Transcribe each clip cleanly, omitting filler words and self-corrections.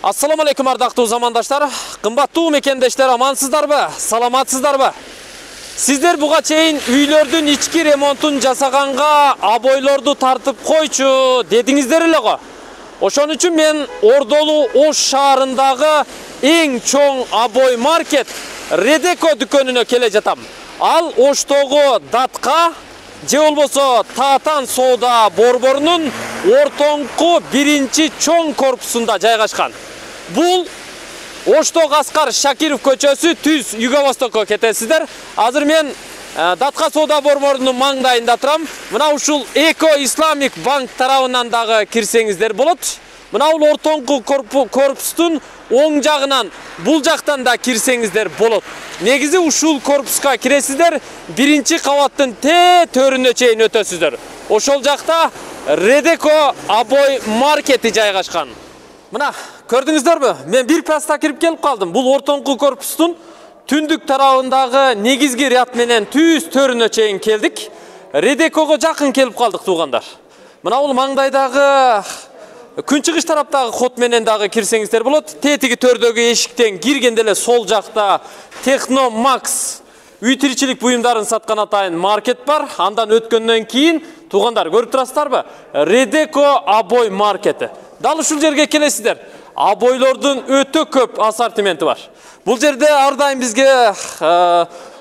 Assalamu alaikum ардактуу замандаштар, кымбаттуу мекендештер, амансыздарбы, саламатсыздарбы? Сиздер буга чейин үйлөрдүн ички ремонтун жасаганга абойлорду тартып койчу дедиңиздер эле го. Ошон үчүн мен Ордолуу Ош шаарындагы эң чоң абой маркет Редеко дүкөнүнө келе жатам. Ал Оштогу Датка же болбосо Таатан соода борборунун ортоңку биринчи чоң корпусунда жайгашкан. Бул Оштогу Аскар Шакиров көчөсү түз Юго-Востокко кетесиздер. Азыр мен Датка соода борборунун маңдайында турам. Мына ушул Эко Исламик банк тарабынан дагы кирсеңиздер болот. Мына бул ортоңку корпустун оң жагынан, бул жактан да кирсеңиздер болот. Негизи ушул корпуска киресиздер, биринчи кабаттын төрүнө чейин өтөсүздөр. Ошол жакта Редеко абой маркети жайгашкан. Мына, көрдүңүздөрбү? Мен бир паста кирип келип калдым. Бул ортоңку корпустун түндүк тарабындагы негизги ряд менен түз төрүнө чейин келдик. Редекого жакын келип калдык, туугандар. Мына бул маңдайдагы күнчыгыш тараптагы код менен дагы кирсеңиздер болот. Тетиги төрдөгү эшиктен киргенде эле сол жакта Техно Макс үй тиричилик буюмдарын саткан атайын маркет бар. Андан өткөндөн кийин, туугандар, көрүп турасыздарбы? Редеко абой маркети. Дал ушул жерге келесиздер. Абойлордун өтө көп ассортименти бар. Бул жерде ар дайым бизге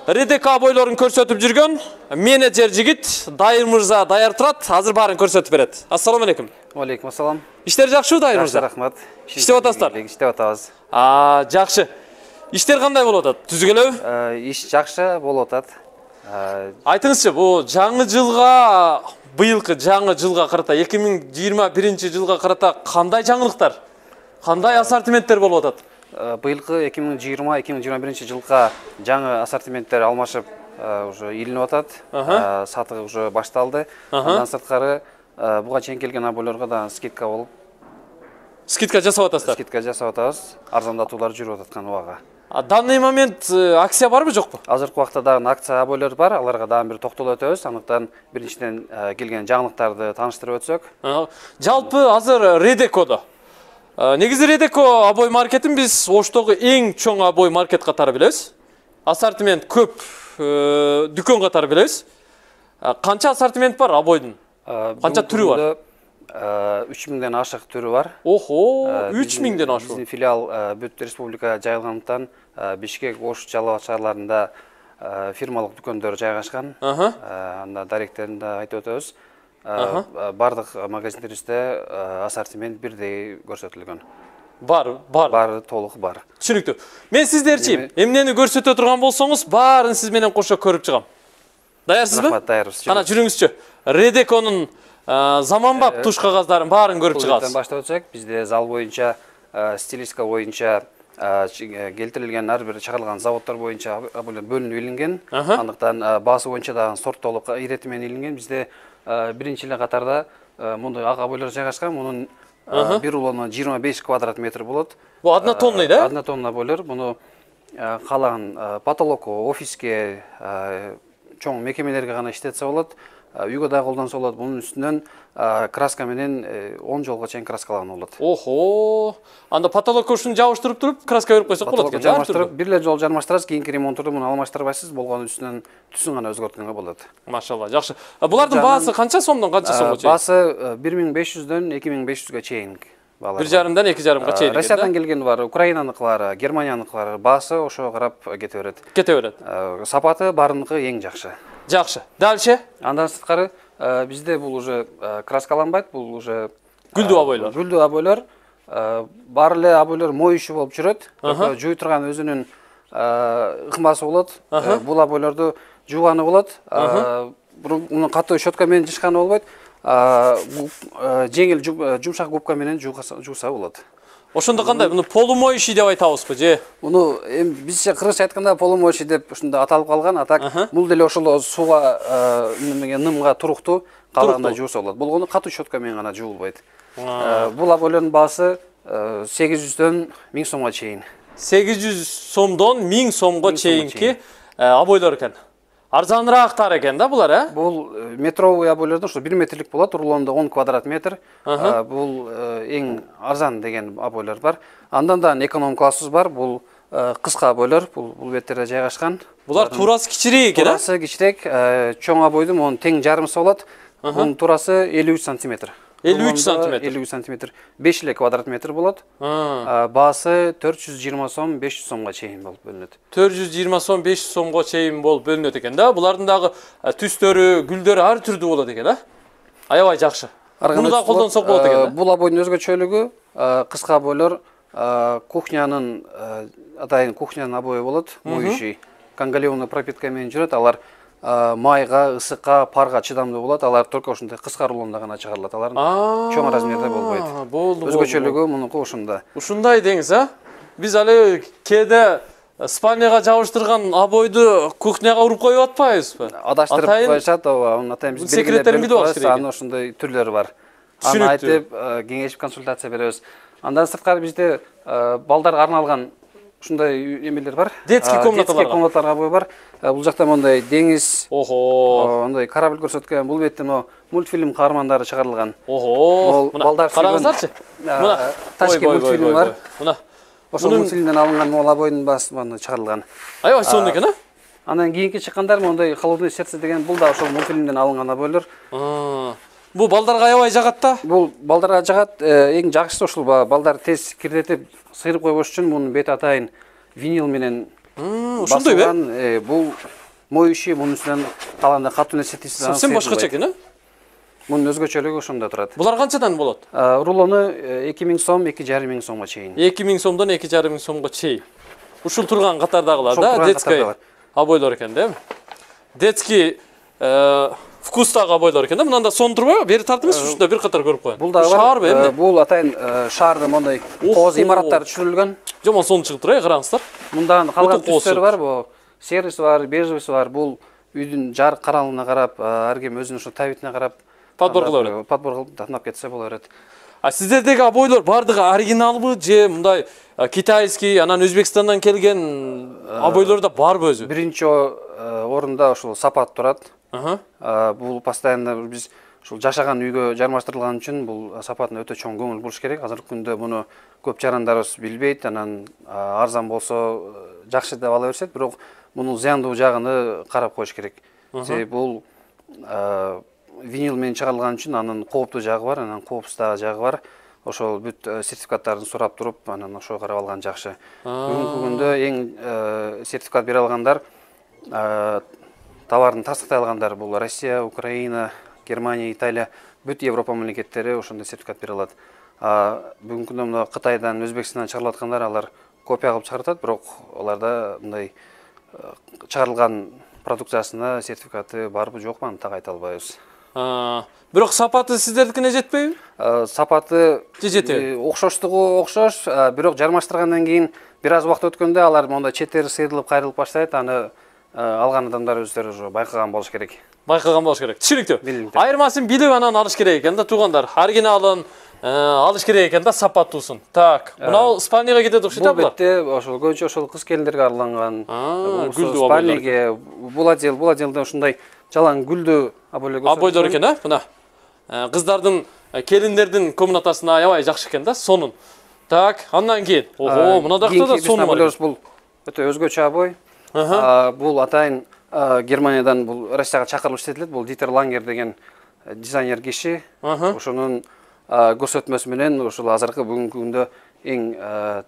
Редеко абойлорун көрсөтүп жүргөн менеджер жигит Дайыр мырза даяр турат. Азыр баарын көрсөтүп берет. Ассаламу алейкум. Алейкум ассалам. Иштер жакшыбы, Дайыр мырза? Рахмат. Иштеп атасыздар? Иштеп атабыз. Жакшы. Иштер кандай болуп атат? Түзүгүлөбү? Иш жакшы болуп атат. Айтыңызчы, бул жаңы жылга, быйылкы жаңы жылга карата, 2021-жылга карата кандай жаңылыктар, кандай ассортименттер болуп атат? Быйылкы 2020-2021-жылга жаңы ассортименттер алмашып уже илинип атат. Сатыгы уже башталды. Андан сырткары буга чейин келген абойлорго да скидка болуп. Скидка жасап атасыздар? Скидка жасап атабыз. Арзандатуулар жүрүп аткан убага. Данный момент акция барбы, жокпу? Азыркы убакта дагы акция абойлор бар. Аларга дагы бир токтолуп өтөбүз. Андыктан биринчиден келген жаңылыктарды тааныштырып өтсөк. Жалпы азыр Редекодо. Негизи Редеко абой маркетин биз Оштогу эң чоң абой маркет катары билебиз. Ассортимент көп дүкөн катары билебиз. Канча ассортимент бар абойдун? Канча түрү бар? 3000ден ашык түрү бар. Охо, 3000ден ашык. Биздин филиал бүт республика жайылгандыктан Бишкек, Ош, Жалал Абад шаарларында фирмалык дүкөндөр жайгашкан. Анда даректерин да айтып өтөбүз. Бардык магазиндерибизде ассортимент бирдей көрсөтүлгөн. Бар, толук бар. Түшүнүктүү. Мен сиздерчи эмнени көрсөтө турган болсоңуз, баарын сиз менен кошо көрүп чыгам. Даярсызбы? Рахмат, даярбыз. Кана жүрүңүзчү. Редеконун заманбап туш кагаздарын баарын көрүп чыгабыз. Баштап өтсөк, бизде зал боюнча, стилистика боюнча, келтирилген ар бир чыгарылган заводдор боюнча бөлүнүп илинген. Андыктан баасы боюнча да сорттолуп ирети менен илинген. Бизде биринчи эле катарда мындай ак абойлор жайгашкан. Мунун бир рулону 25 квадрат метр болот. Бул однотонный да? Однотонный абойлор. Муну каалаган потолокко, офиске, чоң мекемелерге гана иштетсе болот. Үйгө да колдонсо болот. Бунун үстүнөн краска менен 10 жолго чейин краскалаган болот. Охо. Анда потолокко ушуну жабыштырып туруп, краска берип койсок болот экен. Жабыштырып, бир эле жол жармаштырасыз, кийинки ремонттурду муну алмаштырбайсыз, болгону үстүнөн түсүн гана өзгөрткөнгө болот. Машалла, жакшы. Булардын баасы канча сомдон канча сомго чейин? Баасы 1500дөн 2500га чейин. 1,5-дан 2,5га чейин. Россиядан келгени бар, Украинаныкылары, Германияныкылары, баасы ошого карап кете берет. Кете берет. Сапаты барыныкы эң жакшы. Жакшы. Дальше? Андан сырткары бизде бул уже краскаланбайт, бул уже гүлдүү абойлор. Гүлдүү абойлор. Бар эле абойлор моюшу болуп жүрөт. Жууй турган өзүнүн ыкмасы болот. Бул абойлорду жууганы болот. Муну катуу щетка менен жышканы болбойт. Жеңил жумшак губка менен жууса болот. Ошондо кандай? Муну полумоющий деп айтабызбы же? Муну бизче кыргызча айтканда полумоющий деп ушунда аталып калган. Атак бул деле ошол сууга нымга туруктуу калаганда жууса болот. Болгону катуу щетка менен гана жуулбайт. Бул абойлордун баасы 800дөн 1000 сомго чейин. 800 сомдон 1000 сомго чейинки абойлор экен. Арзаныраактар экен да булар, Бул метровый обойлордон ушу 1 метрлик болот, рулонда 10 квадрат метр. Бул эң арзан деген обойлор бар. Андан да эконом классыбыз бар. Бул кыска обойлор, бул беттерде жайгашкан. Булар турасы кичирээк экен, Турасы кичирээк, чоң обойдун монун тең жарымысы болот. Бунун турасы 53 сантиметр. 53 сантиметр. 53 сантиметр. 5 эле квадрат метр болот. Баасы 420 сом, 500 сомго чейин болуп бөлүнөт. 420 сом, 500 сомго чейин болуп бөлүнөт экен да. Булардын дагы түстөрү, гүлдөрү ар түрдүү болот экен, Аябай жакшы. Муну да колдонсок болот экен. Бул обойдун өзгөчөлүгү кыска обойлор кухнянын атайын кухнянын обою болот, моющий. Конголевный пропитка менен жүрөт. Алар майга, ысыкка, парга чыдамдуу болот. Алар только ушундай кыска рулонда гана чыгарылат. Алар чоң размерде болбойт. Болду. Өзгөчөлүгү мунуку ушунда. Ушундай деңиз, Биз али кээде спальняга жабыштырган обойду кухняга уруп коюп атпайбызбы? Адаштырып коюшат, ооба. Атайын биз секреттерин билип алыш керек. Анын ушундай түрлөрү бар. Аны айтып, кеңешип консультация беребиз. Андан сырткары бизде балдарга арналган ушундай эмелер бар. Детский комнаталарга обой бар. Бул жакта мондай деңиз, ондай корабль көрсөткөн, бул бетте мультфильм каармандары чыгарылган. Мына караңыздарчы. Мына Ташкент мультфильм бар. Мына ошол мультфильмден алынган могул обойдун баасы чыгарылган. Аябай сонун экен, Андан кийинки чыккандар мондай холодное сердце деген бул да ошол мультфильмден алынган обойлор. Бул балдарга аябай жагат да. Бул балдарга жагат. Эң жакшысы ушул балдар тез кирдетип сыйрып койбош үчүн мунун бети атайын винил менен ошондойбу? Бул моющий, мунун үстүнөн калганда катуу нерсе тийсе совсем башкача экен, Мунун өзгөчөлүгү ошондо турат. Булар канчадан болот? Рулону 2000 сом, 2500 сомго чейин. 2000 сомдон 2500 сомго чейин. Ушул турган катардагылар да, детский обойлор экен да. Детский вкустагы обойлор экен да. Мынанда сон турбайбы? Бери тартып эмес, ушунда бир катар көрүп коеюн. Бул дагы шаарбы эмне? Бул атайын шаарда мондай кооз имараттар түшүрүлгөн. Жомон сон чыгып турат, караңыздар. Мында калган түстөр бар, бул сервис бар, бежевый бар. Бул үйдүн жарык каралыгына карап, ар ким өзүнүн ошо табитине карап подбор кыла берет. Подбор кылып тандап кетсе боло берет. Сиздердеги обойлор бардыгы оригиналбы же мындай китайский, анан Өзбекстандан келген обойлор да барбы өзү? Биринчи орунда ушул сапат турат. Бул постоянно биз ушул жашаган үйгө жармаштырылган үчүн бул сапатына өтө чоң көңүл буруш керек. Азыркы күндө муну көп жарандарыбыз билбейт, анан арзан болсо жакшы деп ала беришет, бирок мунун зыяндуу жагын карап коюш керек. Себеби бул винил менен чыгарылган үчүн анын кооптуу жагы бар, анан коопсуз жагы бар. Ошол бүт сертификаттарын сурап туруп, анан ошого карап алган жакшы. Бүгүнкү күндө эң сертификат бере алгандар, товардын тастыктай алгандар бул Россия, Украина, Германия, Италия, бүт Европа мамлекеттери ошондой сертификат бере алат. Бүгүнкү күндө мына Кытайдан, Өзбекстандан чыгарылып аткандар, алар копия кылып чыгарат, бирок аларда мындай чыгарылган продукциясына сертификаты барбы жокпу аны так айта албайбыз. Бирок сапаты сиздердикине жетпейби? Сапаты жетеби? Окшоштугу окшош, бирок жармаштыргандан кийин бир аз убакыт өткөндө алар монда четтери сыйрылып, кайрылып баштайт. Аны алган адамдар өздөрү уже байкаган болуш керек. Байкаган болуш керек. Түшүнүктүү. Айырмасын билип анан алыш керек экен да, туугандар. Оригиналын алыш керек экен да, сапаттуусун. Так, мына спальняга кетет окшойт да. Бул бетте ошол көбүнчө ошол кыз келиндерге арналган. Гүлдүү спальняге, бул отделде ушундай жалаң гүлдүү обойлор экен, мына. Кыздардын, келиндердин комнатасына аябай жакшы экен да, сонун. Так, андан кийин. Мына дакта да сонун бар. Бул өтө өзгөчө обой. Бул атайын Германиядан, бул Россияга чакырылып иштетилет. Бул Дитер Лангер деген дизайнер киши. Ошонун көрсөтмөсү менен ушул азыркы бүгүнкү күндө эң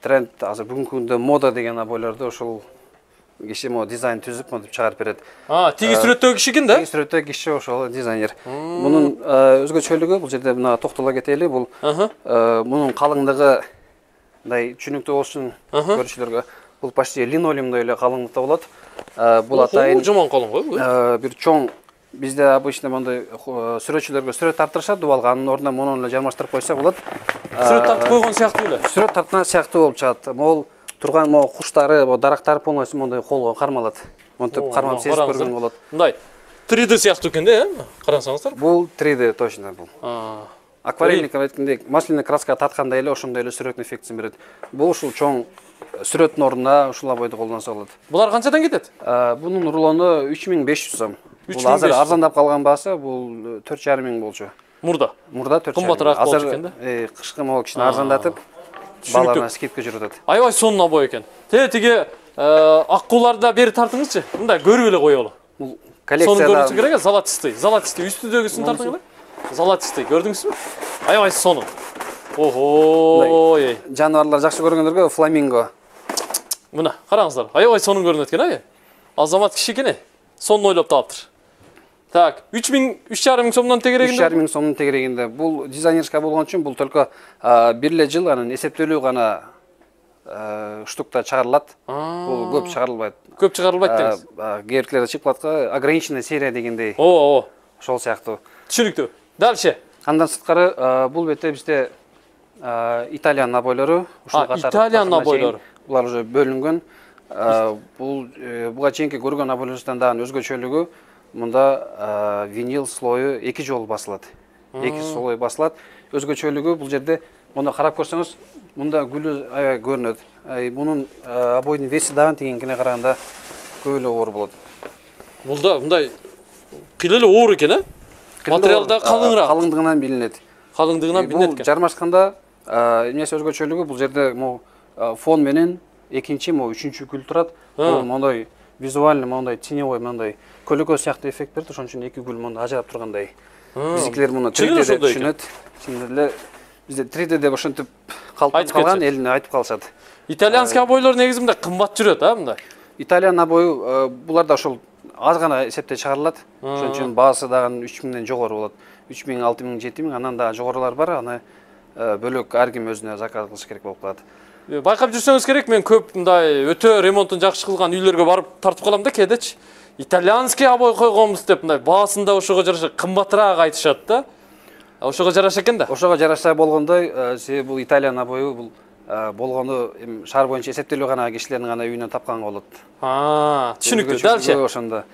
тренд, азыр бүгүнкү күндө мода деген обойлорду ошол киши дизайн түзүп монтип чыгарып берет. Тиги сүрөттөгү киши экен да? Тиги сүрөттөгү киши ошол дизайнер. Мунун өзгөчөлүгү, бул жерде мына токтоло кетели, бул мунун калыңдыгы мындай түшүнүктүү болуш үчүн көрүүчүлөргө бул почти линолеумдой эле калыңдыкта болот. Бул атайын жомон калың го. Бир чоң бизде обычно мондай сүрөтчүлөргө сүрөт тарттырышат дубалга, анын ордуна мунун эле жармаштырып койсо болот. Сүрөт тартып койгон сыяктуу эле. Сүрөт тарткан сыяктуу болуп чыгат. Могул турган куштары, дарактары полностью мондай колго кармалат. Монтип кармап сезип көргөн болот. Мындай 3D сыяктуу экен да, карасаңыздар. Бул 3D точно бул. Акварельник айткандей масляный краска тарткандай эле ошондой эле сүрөттүн эффектисин берет. Бул ушул чоң сүрөттүн ордуна ушул обойду колдонсо болот. Булар канчадан кетет? Бунун рулону 3500 сом. Бул азыр арзандап калган баасы бул 4,5 миң болчу. Мурда 4,5 миң. Кымбатыраак болчу экен да. Кышкы могу кичине арзандатып, баларына скидка жүрүп атат. Аябай сонун обой экен. Тиги аккууларды бери тартыңызчы. Мындай көрүп эле коелу. Бул Сонун коллекцияда көрүнүшү керек, золотистый үстүдөгүсүн тартың эле. Золотистый көрдүңүзбү? Аябай сонун. Ого, жаныбарлар жакшы көргөндөргө фламинго. Мына караңыздар, аябай сонун көрүнөт экен, Азамат киши экен, сонун ойлоп таптыр. Так, 3,5 миң сомдон тегерегинде. 3,5 миң сомдун тегерегинде. Бул дизайнерска болгон үчүн бул только бир эле жыл анын эсептелүү гана штукта чыгарылат. Бул көп чыгарылбайт. Көп чыгарылбайт деңиз. Кээбиркилерде чыкпатка ограниченный серия дегендей. Ошол сыяктуу. Түшүнүктүү. Дальше. Андан сырткары бул бетте бизде Италиан набойлору, ушул катар. Италиан набойлору. Булар уже бөлүнгөн. Буга чейинки көргөн набойлордон дагы өзгөчөлүгү мында винил слою 2 жолу басылат. 2 слой басылат. Өзгөчөлүгү бул жерде муну карап көрсөңүз, мында гүлү аябай көрүнөт. Бунун обойдун веси дагы тигинкине караганда көп эле оор болот. Мында мындай кыйла эле оор экен, Материал да калыңыраак. Калыңдыгынан билинет. Калыңдыгынан билинет экен. Бул жармашканда эмнеси өзгөчөлүгү бул жерде фон менен экинчи, үчүнчү гүл турат. Бул мондай визуальный, мондай теневой, мондай көлөкө сыяктуу эффект берет. Ошон үчүн 2 гүл мондай ажырап тургандай. Биздикилер муну 3D деп түшүнөт. Чындап бизде 3D деп ошентип калып калган, элине айтып калышат. Итальянский обойлор негизи мындай кымбат жүрөт, мындай. Италиан обою булар да ошол аз гана эсепте чыгарылат. Ошон үчүн баасы дагы 3 миңден жогору болот. 3 миң, 6 миң, 7 миң, андан да жогорулар бар. Аны бөлөк ар ким өзүнө заказ кылыш керек болуп калат. Байкап жүрсөңүз керек, мен көп мындай өтө ремонтун жакшы кылган үйлөргө барып тартып калам да кээдечи. Итальянский обой койгонбуз деп мындай баасын да ошого жараша кымбатыраак айтышат да. Ошого жараша экен да. Ошого жараша болгондой, себеби бул Италиан обою бул болгону шаар боюнча эсептелүү гана кишилердин гана үйүнөн тапкан болот. Түшүнүктүү. Дальше. Ошондо.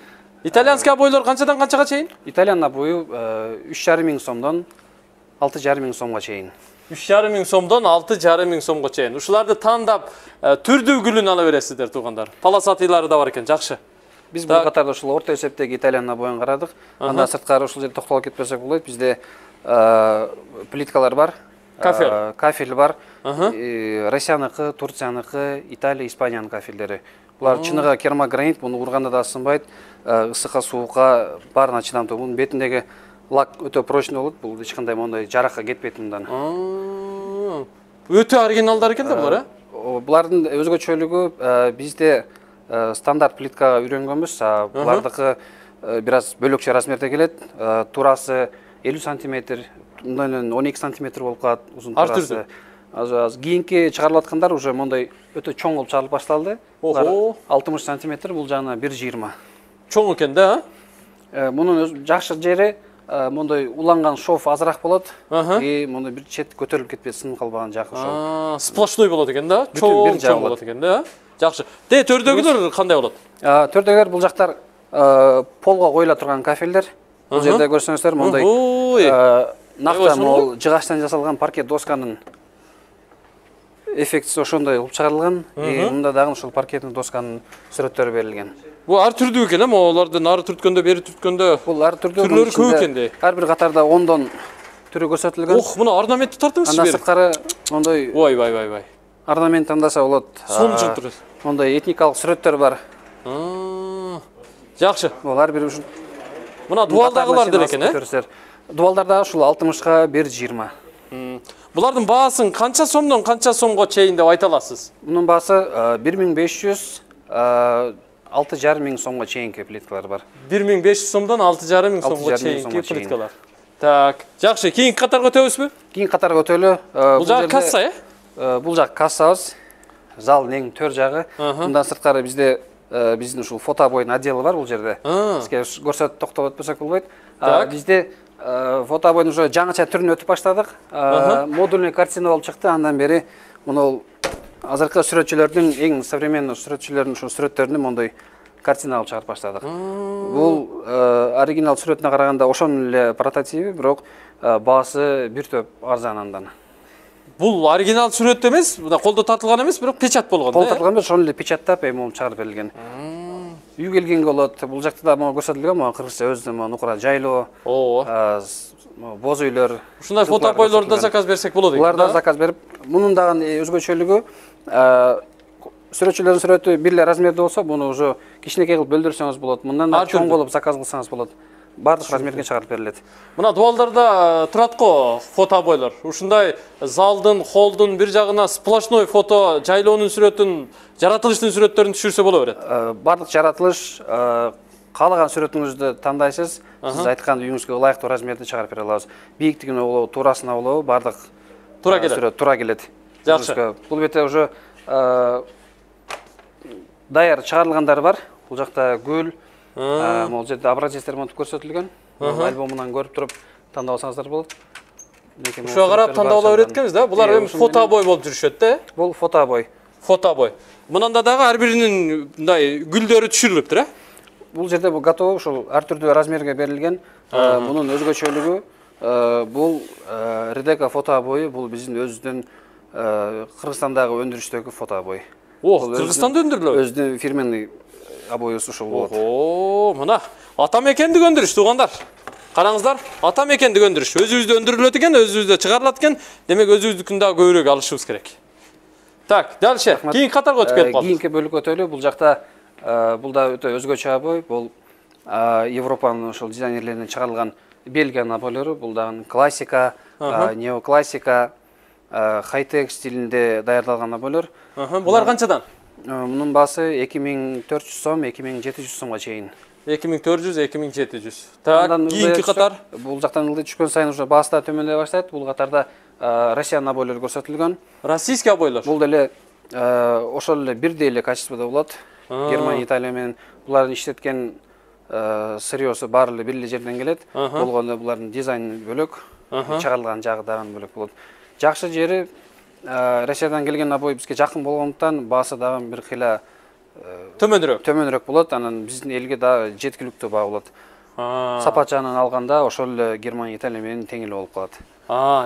Итальянский обойлор канчадан канчага чейин? Итальян обою 3,5 миң сомдон 6,5 миң сомго чейин. 3,5 миң сомдон 6,5 миң сомго чейин. Ушуларды тандап түрдүү гүлүн ала бересиздер туугандар. Полосатыйлары да бар экен, жакшы. Биз бул катарда ушул орто эсептеги Итальян обоюн карадык. Андан сырткары ушул жерде токтолуп кетпесек болот. Бизде плиткалар бар. Кафель бар. Россияныкы, Турцияныкы, Италия, Испаниянын кафелдери. Булар чыныгы керамогранит, муну урганда да сынбайт. Ысыкка, суукка баарына чыдамдуу. Мунун бетиндеги лак өтө прочный болот. Бул эч кандай мондай жаракка кетпейт мындан. Өтө оригиналдар экен да булар, Булардын өзгөчөлүгү бизде стандарт плиткага үйрөнгөнбүз. Булардыкы бир аз бөлөкчө размерде келет. Турасы 50 сантиметр, мындан 12 сантиметр болуп калат узун турасы. Аз кийинки чыгарылып аткандар уже мондай өтө чоң болуп чыгарылып башталды. 60 сантиметр, бул жана 1,20. Чоң экен да, Мунун жакшы жери мондай уланган шов азыраак болот. Мондай бир чет көтөрүлүп кетпейт, сынып калбаган жакшы шов. Сплошной болот экен да, чоң болот экен да. Жакшы. Төрдөгүлөр кандай болот? Төрдөгүлөр бул жактар полго коюла турган кафелдер. Бул жерде көрсөңүздөр мондай накта могул жыгачтан жасалган паркет досканын эффектиси ошондой кылып чыгарылган. Мында дагы ошол паркеттин досканын сүрөттөрү берилген. Бул ар түрдүү экен, олардын ары түрткөндө, бери түрткөндө. Бул ар түрдүү. Түрлөрү көп экен да. Ар бир катарда 10дон түрү көрсөтүлгөн. Мына орнаментти тартыңызчы бери. Андан сырткары мондай Вай. Орнамент тандаса болот. Сонун жыгып. Мондай этникалык сүрөттөр бар. Жакшы. Бул ар бир ушул. Мына дуалдагылар деле экен, Дуалдарда ушул 60га 1,20. Булардын баасын канча сомдон канча сомго чейин деп айта аласыз? Мунун баасы 1500, 6,5 миң сомго чейинки плиткалар бар. 1500 сомдон 6,5 миң сомго чейинки плиткалар. Так, жакшы, кийинки катарга өтөбүзбү? Кийинки катарга өтөлү. Бул жак касса, Бул жак кассабыз. Залдын эң төр жагы. Мындан сырткары бизде биздин ушул фото обойдун отделы бар бул жерде. Бизге көрсөтүп токтоп өтпөсөк болбойт. Бизде фото обойдун уже жаңыча түрүнө өтүп баштадык. Модульный картина болуп чыкты. Андан бери муну азыркы сүрөтчүлөрдүн эң современный сүрөтчүлөрдүн ушул сүрөттөрүнү мондай картина алып чыгарып баштадык. Бул оригинал сүрөтүнө караганда ошонун эле прототиби, бирок баасы бир топ арзан андан. Бул оригинал сүрөт эмес, мына колдо тартылган эмес, бирок печат болгон. Колдо тартылган эмес, ошону эле печаттап эми чыгарып берилген. Үй келгенге болот. Бул жакта да могу көрсөтүлгөн, могу кыргызча өзүнүн нукура жайлоо. Боз үйлөр. Ушундай фотоапойлорду да заказ берсек болот экен. Буларда заказ берип, мунун дагы өзгөчөлүгү сүрөтчүлөрдүн сүрөтү бир эле размерде болсо, буну уже кичинекей кылып бөлдүрсөңүз болот. Мындан да чоң болуп заказ кылсаңыз болот. Бардык размерге чыгарып берилет. Мына дуалдарда турат го фотоапойлор. Ушундай залдын, холдун бир жагына сплошной фото жайлоонун сүрөтүн, жаратылыштын сүрөттөрүн түшүрсө боло берет. Бардык жаратылыш, каалаган сүрөтүңүздү тандайсыз. Сиз айткан үйүңүзгө ылайыктуу размерде чыгарып бере алабыз. Бийиктигине болобу, туурасына болобу, бардык сүрөт туура келет. Жакшы. Бул бете уже даяр чыгарылгандары бар. Бул жакта гүл, могул жерде образецтер монтуп көрсөтүлгөн. Альбомунан көрүп туруп тандап алсаңыздар болот. Ушуга карап тандап ала берет экенбиз да. Булар эми фотообой болуп жүрүшөт да. Бул фотообой. Фотообой. Мынанда дагы ар биринин мындай гүлдөрү түшүрүлүптүр, Бул жерде бул готовы, ушул ар түрдүү размерге берилген. Мунун өзгөчөлүгү бул Редека фотообою, бул биздин өзүбүздүн Кыргызстандагы өндүрүштөгү фотообой. Кыргызстанда өндүрүлөт. Өзүнүн фирменный обоюбуз ушул болот. Мына ата мекендик өндүрүш туугандар. Караңыздар, ата мекендик өндүрүш. Өзүбүздө өндүрүлөт экен, өзүбүздө чыгарылат экен. Демек өзүбүздүкүн дагы көбүрөөк алышыбыз керек. Так, дальше. Кийинки катарга өтүп келип калдык. Кийинки бөлүккө өтөлү. Бул жакта бул да өтө өзгөчө обой. Бул Европанын ошол дизайнерлеринен чыгарылган Бельгиянын обойлору. Бул дагы классика, неоклассика, хай-тек стилинде даярдалган обойлор. Булар канчадан? Мунун баасы 2400 сом, 2700 сомго чейин. 2400, 2700. Так, кийинки катар. Бул жактан ылдый түшкөн сайын уже баасы да төмөндөй баштайт. Бул катарда Россиянын обойлору көрсөтүлгөн. Российский обойлор. Бул деле ошол эле бирдей эле качестводо болот. Германия, Италия менен булардын иштеткен сырьёсу баары эле бир эле жерден келет. Болгондо булардын дизайны бөлөк, чыгарылган жагы дагы бөлөк болот. Жакшы жери Россиядан келген обой бизге жакын болгондуктан баасы дагы бир кыйла төмөнүрөөк болот. Анан биздин элге дагы жеткиликтүү баа болот. Сапат жагынан алганда ошол эле Германия, Италия менен тең эле болуп калат.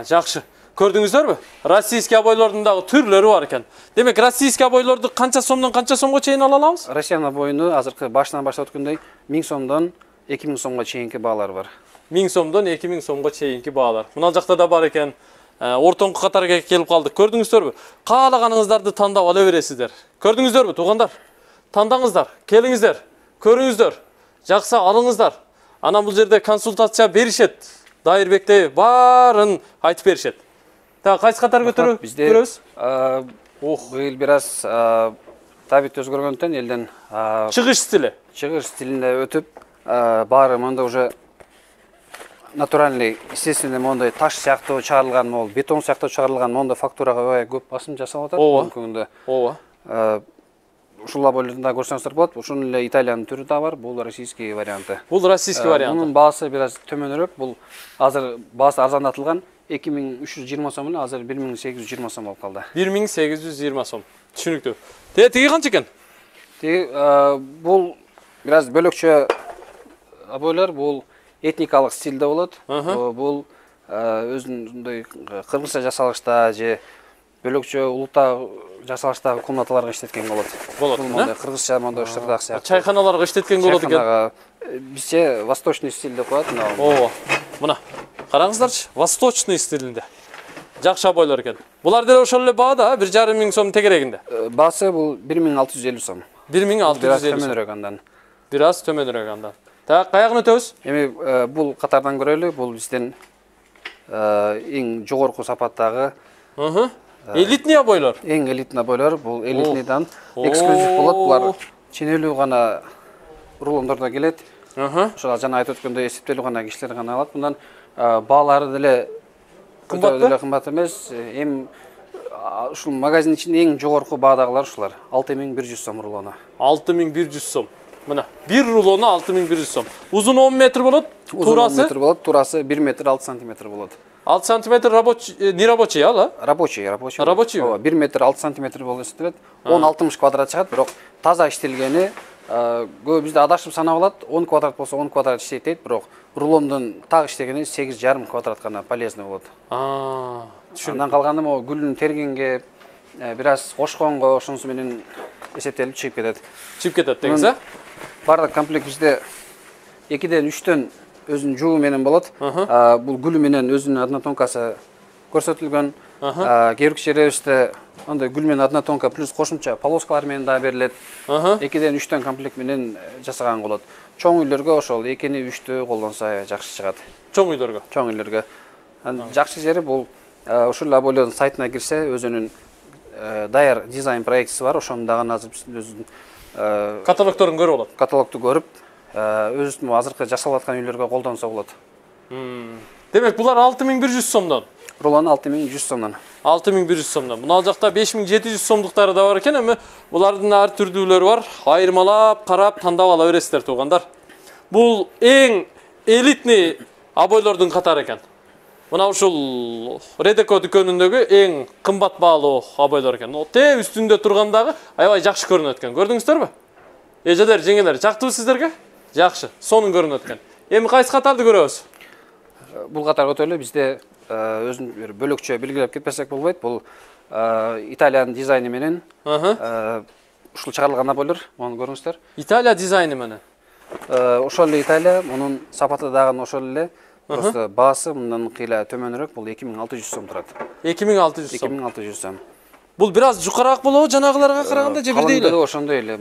Жакшы. Көрдүңүздөрбү? Российский обойлордун дагы түрлөрү бар экен. Демек, российский обойлорду канча сомдон канча сомго чейин ала алабыз? Россиянын обоюну азыркы башынан баштап өткөндөй 1000 сомдон 2000 сомго чейинки баалар бар. 1000 сомдон 2000 сомго чейинки баалар. Мына жакта да бар экен. Ортоңку катарга келип калдык. Көрдүңүздөрбү? Каалаганыңыздарды тандап ала бересиздер. Көрдүңүздөрбү, туугандар? Тандаңыздар, келиңиздер, көрүңүздөр, жакса алыңыздар. Анан бул жерде консультация беришет. Дайырбекте баарын айтып беришет. Так, кайсы катар көтөрөбүз? Быйыл бир аз табит өзгөргөндөн элден чыгыш стилинде өтүп, баары монда уже натуральный, естественный мондай таш сыяктуу чыгарылган, могул бетон сыяктуу чыгарылган мондай фактурага аябай көп басым жасалып атат бүгүнгү күндө. Ушул обойлорду да көрсөңүздөр болот. Ушунун эле Италиянын түрү да бар. Бул российский варианты. Бул российский варианты. Мунун баасы бир аз төмөнүрөөк. Бул азыр баасы арзандатылган 2320 сом эле, азыр 1820 сом болуп калды. 1820 сом. Түшүнүктүү. Тиги канча экен? Тиги бул бир аз бөлөкчө обойлор. Бул этникалык стилде болот. Бул өзүндөй кыргызча жасалышта же бөлөкчө улутта жасалыштагы комнаталарга иштеткен болот. Бул мондай кыргызча мондай штырдак сыяктуу. Чайканаларга иштеткен болот экен. Бизче восточный стиль деп коет. Мына караңыздарчы, восточный стилинде. Жакшы обойлор экен. Булар деле ошол эле баада, 1500 сом тегерегинде. Баасы бул 1650 сом. 1650 сом. Төмөнүрөөк андан. Бир аз төмөнүрөөк андан. Так, каягына өтөбүз? Эми бул катардан көрөлү. Бул биздин эң жогорку сапаттагы элитный обойлор. Эң элитный обойлор. Бул элитныйдан эксклюзив болот. Булар ченелүү гана рулондордо келет. Ошол жана айтып өткөндөй эсептелүү гана кишилер гана алат. Мындан баалары деле кымбат эмес. Эм ушул магазин ичинде эң жогорку баадагылар ушулар. 6100 сом рулону. 6100 сом. Мына, бир рулону 6100 сом. Узун 10 метр болот, турасы? 10 метр болот, турасы 1 метр 6 сантиметр болот. 6 сантиметр не рабочий, ала? Рабочий. Рабочий. 1 метр 6 сантиметр болуп эсептелет. 10-60 квадрат чыгат, бирок таза иштелгени көп бизде адашып санап алат. 10 квадрат болсо 10 квадрат иштейт дейт, бирок рулондун так иштегени 8,5 квадрат гана полезный болот. Андан калганы могу гүлдүн тергенге, бир аз кошконго ошонусу менен эсептелип чыгып кетет. Чыгып кетет деңиз, а? Бардык комплект бизде 2ден 3төн өзүнүн жуубу менен болот. Бул гүлү менен өзүнүн однотонкасы көрсөтүлгөн. Кээ бир жерлерибизде андай гүл менен однотонка плюс кошумча полоскалар менен да берилет. 2ден 3төн комплект менен жасаган болот. Чоң үйлөргө ошол 2-ни 3тү колдонсо жакшы чыгат. Чоң үйлөргө. Чоң үйлөргө. Жакшы жери бул ушул Абойлордун сайтына кирсе, өзүнүн даяр дизайн проектиси бар. Ошону дагы азыр өзүнүн каталогдорун көрүп алат. Каталогду көрүп, өзүнүн азыркы жасалып аткан үйлөргө колдонсо болот. Демек, булар 6100 сомдон. Рулон 6100 сомдон. 6100 сомдон. Мына жакта 5700 сомдуктары да бар экен, эми булардын ар түрдүүлөрү бар. Айырмалап, карап, тандап ала бересиздер туугандар. Бул эң элитный Абойлордун катары экен. Мына ушул Редеко дүкөнүндөгү эң кымбат баалуу Абойлор экен. Те үстүндө тургандагы аябай жакшы көрүнөт экен. Көрдүңүздөрбү? Эжелер, жеңелер, жактыбы сиздерге? Жакшы, сонун көрүнөт экен. Эми кайсы катарды көрөбүз? Бул катар өтө эле бизде өзүн бир бөлөкчө белгилеп кетпесек болбойт. Бул Италиянын дизайны менен ушул чыгарылган Абойлор, муну көрүңүздөр. Италия дизайны менен. Ошол эле Италия, мунун сапаты дагы ошол эле. Просто баасы мындан кыйла төмөнүрөөк, бул 2600 сом турат. 2600 сом. 2600 сом. Бул бир аз жукараак болобу жанагыларга караганда же бирдей эле? Ошондой эле.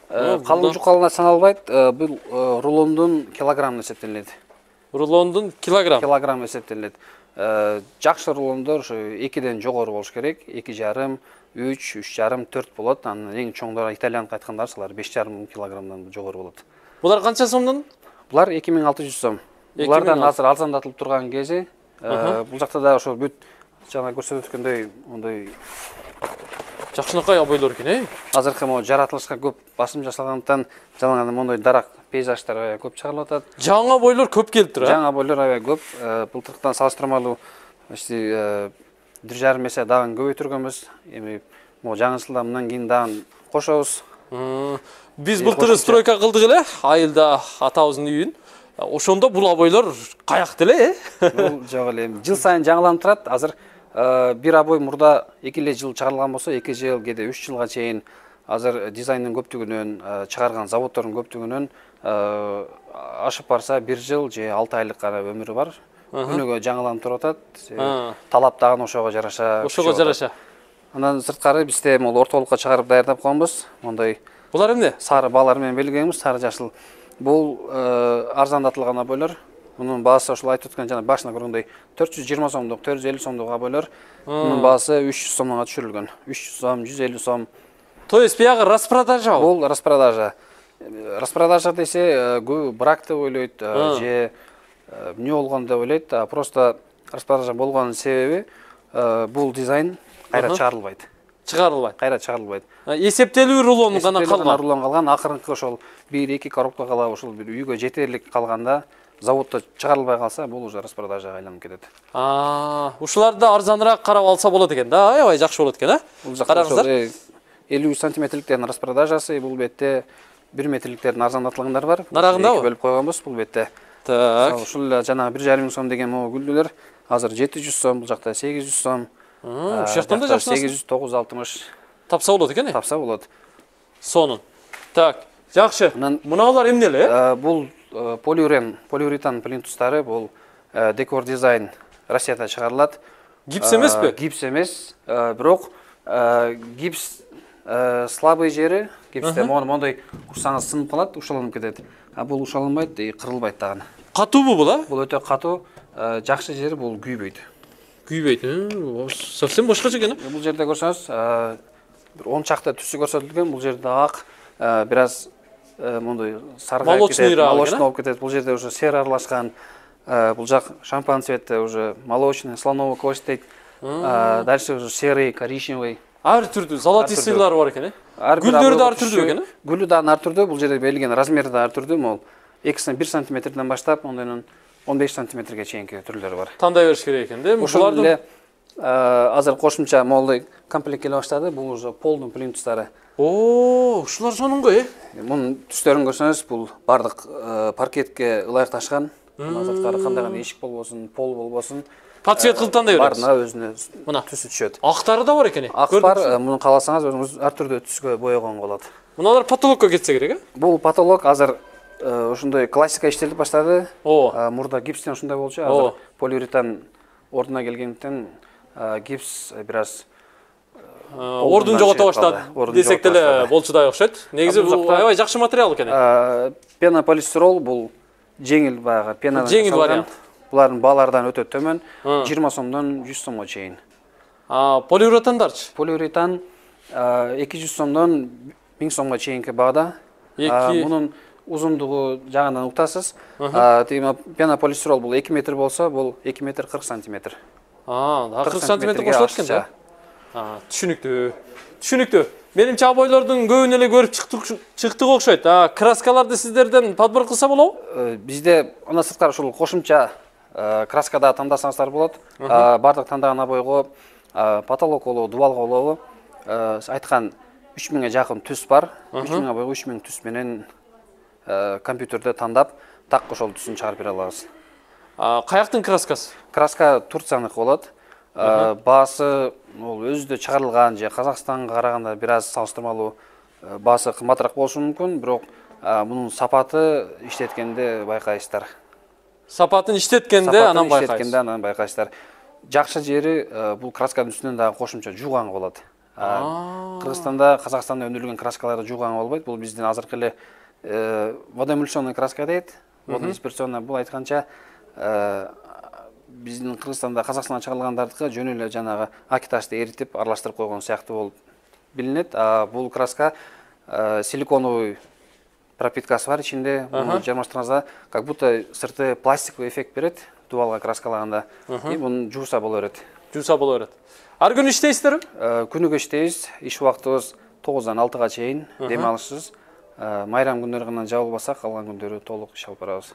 Калың жукалына саналбайт, бул рулондун килограммына эсептелет. Рулондун килограмм. Килограмм эсептелет. Жакшы рулондор ошо 2ден жогору болуш керек. 2,5, 3, 3,5, 4 болот. Анын эң чоңдору итальяндык айткандар алар 5,5 килограммдан жогору болот. Булар канча сомдон? Булар 2600 сом. Булардан азыр арзандатылып турган кези, бул жакта да ошо бүт жана көрсөтүп өткөндөй ондой жакшынакай Абойлор экен, Азыркы могу жаратылышка көп басым жасалгандыктан жалаңганда мондой дарак пейзаждар көп чыгарылып атат. Жаңы Абойлор көп келип тур, а? Жаңы Абойлор аябай көп. Былтыркыдан салыштырмалуу почти 1,5 эсе дагы көбөйтүргөнбүз. Эми могу жаңы жылда мындан кийин дагы кошобуз. Биз былтыр стройка кылдык эле, айылда атабыздын үйүн. Ошондо бул Абойлор каякты эле, Бул жок эле. Жыл сайын жаңыланып турат. Азыр бир Абой мурда 2 эле жыл чыгарылган болсо, 2 жыл, кээде 3 жылга чейин азыр дизайндын көптүгүнөн, чыгарган заводдордун көптүгүнөн ашып барса 1 жыл же 6 айлык гана өмүрү бар. Күнүгө жаңыланып туруп атат. Талап дагы ошого жараша. Ошого жараша. Андан сырткары бизде могу ортолукка чыгарып даярдап койгонбуз. Мондай Булар эмне? Сары баалар менен белгилегенбиз, сары жашыл. Бул арзандатылган Абойлор. Мунун баасы ошол айтып өткөн жана башына көргөндөй 420 сомдук, 450 сомдук Абойлор. Мунун баасы 300 сомго түшүрүлгөн. 300 сом, 150 сом. То есть биягы распродажа? Бул распродажа. Распродажа десе, брак деп ойлойт, же эмне болгон деп ойлойт. Просто распродажа болгонун себеби бул дизайн кайра чыгарылбайт. Кайра чыгарылбайт. Эсептелүү рулон гана калган. Рулон калган. Акырынкы ошол 1-2 коробка кала ошол бир үйгө жетерлик калганда, заводдо чыгарылбай калса, бул уже распродажага айланып кетет. Ушуларды арзаныраак карап алса болот экен да, аябай жакшы болот экен, а? Караңыздар. 50 сантиметрликтердин распродажасы, бул бетте 1 метрликтердин арзандатылгандары бар. Нарагындабы? Бөлүп койгонбуз бул бетте. Так. Ушул жанагы 1,5 сом деген могу гүлдүлөр азыр 700 сом, бул жакта 800 сом. Ушул жактан да жакшы. 800, 960. Тапса болот экен, Тапса болот. Сонун. Так, жакшы. Муналар эмне эле? Бул полиуретан плинтустары, бул Декор дизайн Россияда чыгарылат. Гипс эмеспи? Гипс эмес, бирок гипс слабый жери, гипсте мондой урсаңыз сынып калат, ушаланып кетет. Бул ушаланбайт, кырылбайт дагы. Катуубу бул, а? Бул өтө катуу. Жакшы жери бул күйбөйт. Күйбөйт. Совсем башкача экен. Бул жерде көрсөңүз, бир 10 чакта түсү көрсөтүлгөн. Бул жерде ак, бир аз мондой саргайып кетет, молочный болуп кетет. Бул жерде уже сера аралашкан. Бул жак шампан цветте уже молочный, слоновый кость дейт. Дальше уже серый, коричневый. Ар түрдүү золотистыйлар бар экен, Гүлдөрү да ар түрдүү экен, Гүлү да ар түрдүү. Бул жерде белгилеген размери да ар түрдүү. Могул 1 сантиметрден баштап, ондойнун 15 сантиметрге чейинки түрлөрү бар. Тандай бериш керек экен, да? Ошол эле азыр кошумча молдой комплект келе баштады. Бул уже полдун плинтустары. Ушулар сонунго, Мунун түстөрүн көрсөңүз, бул бардык паркетке ылайыкташкан. Азыркы кандай гана эшик болбосун, пол болбосун, Подсвет кылып тандай беребиз. Баарына өзүнө Мына түсү түшөт. Актары да бар экен. Ак бар, муну кааласаңыз өзүңүз ар түрдүү түскө боёгон болот. Муналар потолокко кетсе керек, Бул потолок азыр ушундай классика иштелип баштады. Мурда гипстен ушундай болчу, азыр полиуретан ордуна келгендиктен гипс бир аз ордун жогото баштады десек деле болчудай окшойт. Негизи бул аябай жакшы материал экен. Пенополистирол бул жеңил баягы пенадан жеңил вариант. Булардын баалардан өтө төмөн, 20 сомдон 100 сомго чейин. Полиуретандарчы? Полиуретан 200 сомдон 1000 сомго чейинки баада. Мунун узундугу жагынан уктасыз. Пенополистирол бул 2 метр болсо, бул 2 метр 40 сантиметр. 40 сантиметр кошулат экен да? Түшүнүктүү. Менимче абойлордун көбүн эле көрүп чыктык окшойт. Краскаларды сиздерден подбор кылса болобу? Бизде анда сырткары ушул кошумча краскада тандасаңыздар болот. Бардык тандаган абойго потолок болобу, дубал болобу, айткан 3000ге жакын түс бар. 3000 абойго 3000 түс менен компьютерде тандап, так ошол түсүн чыгарып бере алабыз. Каяктын краскасы? Краска Турцияныкы болот. Баасы өзүдө чыгарылган же Казакстанга караганда бир аз салыштырмалуу баасы кымбатыраак болушу мүмкүн, бирок мунун сапаты иштеткенде байкайсыздар. Сапатын иштеткенде анан байкайсыздар. Жакшы жери бул красканын үстүнөн дагы кошумча жууган болот. Кыргызстанда, Казакстанда өндүрүлгөн краскаларды жууган болбойт. Бул биздин азыркы эле водоэмульсионный краска дейт. Вододисперсионный бул айтканча биздин Кыргызстанда, Казакстандан чыгарылгандардыкы жөн эле жанагы акиташты эритип, аралаштырып койгон сыяктуу болуп билинет. Бул краска силиконовый пропиткасы бар ичинде. Муну жармаштырганда как будто сырты пластиковый эффект берет дубалга краскалаганда. Муну жууса боло берет. Ар күнү иштейсиздерби? Күнүгө иштейбиз. Иш убактыбыз 9-дан 6-га чейин, дем алышсыз. Майрам күндөрү гана жабылбаса, калган күндөрү толук иш алып барабыз.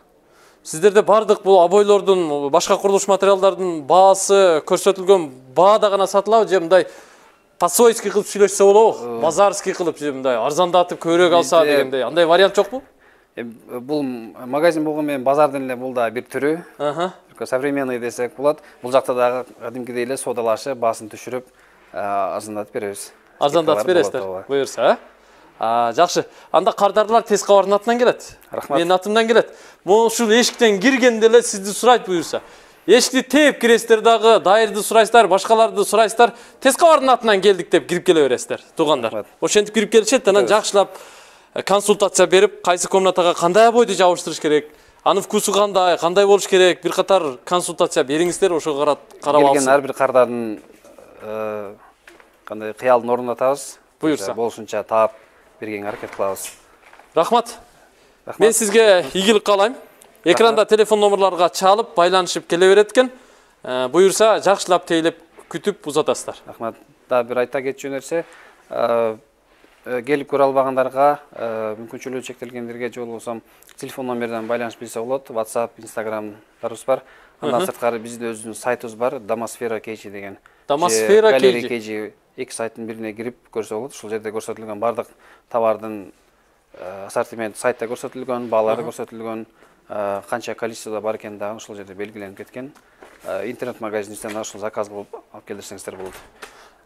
Сиздерде бардык бул абойлордун, башка курулуш материалдардын баасы көрсөтүлгөн баада гана сатылабы же мындай по-свойски кылып сүйлөшсө болобу? Базарский кылып же мындай арзандатып көбүрөөк алса дегендей. Андай вариант жокпу? Бул магазин болгон менен базардын эле бул да бир түрү. Современный десек болот. Бул жакта дагы кадимкидей эле содалашып, баасын түшүрүп, арзандатып беребиз. Арзандатып бересиздер, буюрса, жакшы. Анда кардарлар тез кабардын атынан келет. Рахмат. Менин атымдан келет. Ушул эшиктен киргенде эле сизди сурайт буюрса. Эшикти тээп киресиздер дагы, дайырды сурайсыздар, башкаларды сурайсыздар. Тез кабардын атынан келдик деп кирип келе бересиздер, туугандар. Ошентип кирип келишет, анан жакшылап консультация берип, кайсы комнатага кандай абойду жабыштырыш керек, анын вкусу кандай болуш керек, бир катар консультация бериңиздер, ошого карап алсын. Келген ар бир кардардын кандай кыялын орунатабыз. Буюрса. Болушунча таап бергенге аракет кылабыз. Рахмат. Мен сизге ийгилик каалайм. Экранда телефон номерларга чалып, байланышып келе берет экен. Буюрса, жакшылап тейлеп күтүп узатасыздар. Рахмат. Да бир айта кетчү нерсе, келип көрө албагандарга, мүмкүнчүлүгү чектелгендерге же болбосо телефон номерден байланышып билсе болот. WhatsApp, Instagramдарыбыз бар. Андан сырткары биздин өзүбүздүн сайтыбыз бар, Damasfera KG деген. Damasfera KG 2 сайттын бирине кирип көрсө болот. Ушул жерде көрсөтүлгөн бардык товардын ассортимент сайтта көрсөтүлгөн, баалары көрсөтүлгөн, канча количествода бар экени дагы ушул жерде белгиленип кеткен. Интернет магазинден ушул заказ кылып алып келсеңиздер болот.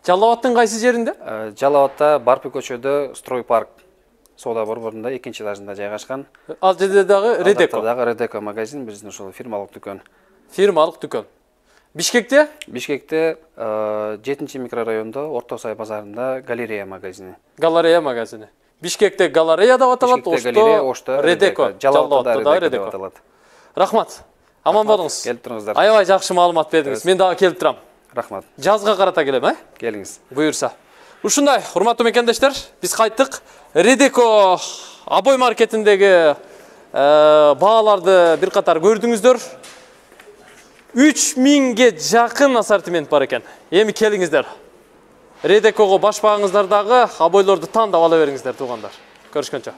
Жалал Абадтын кайсы жеринде? Жалал Абадта Барпы көчөдө Стройпарк соода борборунда 2-чи этажында жайгашкан. Ал жерде дагы Редеко. Дагы Редеко магазин, биздин ушул фирмалык дүкөн. Фирмалык дүкөн. Бишкекте? Бишкекте 7-чи микрорайондо Орто Сай базарында Галерея магазини. Галерея магазини. Бишкекте Галерея деп аталат, Ошто Редеко. Жалал Абадта Редеко аталат. Рахмат. Аман болуңуз. Келип туруңуздар. Аябай жакшы маалымат бердиңиз. Мен дагы келип турам. Рахмат. Жазга карата келем, Келиңиз. Буюрса. Ушундай, урматтуу мекендештер, биз кайттык. Редеко абой маркетиндеги бааларды бир катар көрдүңүздөр. 3000ге жакын ассортимент бар экен. Эми келиңиздер. Редекого баш багыңыздар дагы абойлорду тандап ала бериңиздер, туугандар. Көрүшкөнчө.